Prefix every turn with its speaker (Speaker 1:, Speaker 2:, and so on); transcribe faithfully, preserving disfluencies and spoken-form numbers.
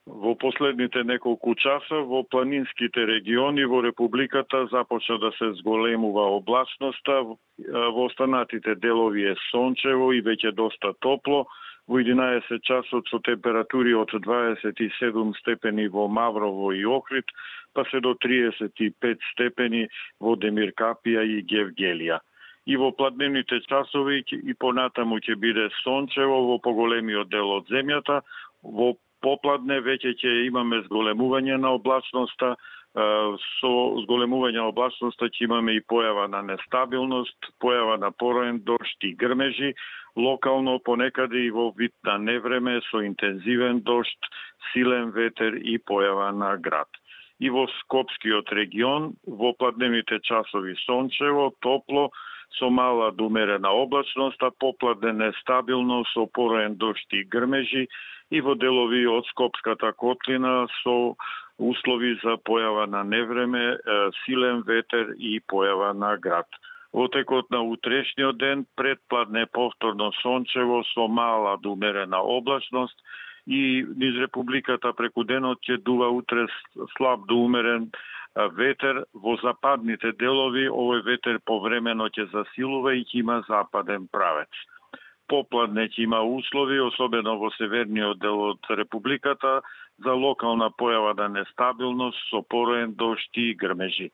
Speaker 1: Во последните неколку часа во планинските региони во Републиката започна да се зголемува облачноста, во останатите делови е сончево и веќе доста топло, во единаесет часот со температури од дваесет и седум степени во Маврово и Охрид, па се до триесет и пет степени во Демиркапија и Гевгелија. И во пладневните часови и понатаму ќе биде сончево во поголемиот дел од земјата, во попладне веќе ќе имаме зголемување на облачноста, со зголемување на облачноста ќе имаме и појава на нестабилност, појава на пороен дожд и грмежи, локално понекаде и во вид на невреме со интензивен дожд, силен ветер и појава на град. И во Скопскиот регион во пладневните часови сончево, топло, со мала до умерена облачност, а попладне нестабилно со пороен дожд и грмежи, и во делови од Скопската котлина со услови за појава на невреме, силен ветер и појава на град. Во текот на утрешниот ден предпладне повторно сончево со мала до умерена облачност и низ Републиката преку денот ќе дува утре слаб до умерен ветер. Во западните делови овој ветер повремено ќе засилува и ќе има западен правец. Попладне ќе има услови, особено во северниот дел од Републиката, за локална појава на нестабилност со пороен дожд и грмежи.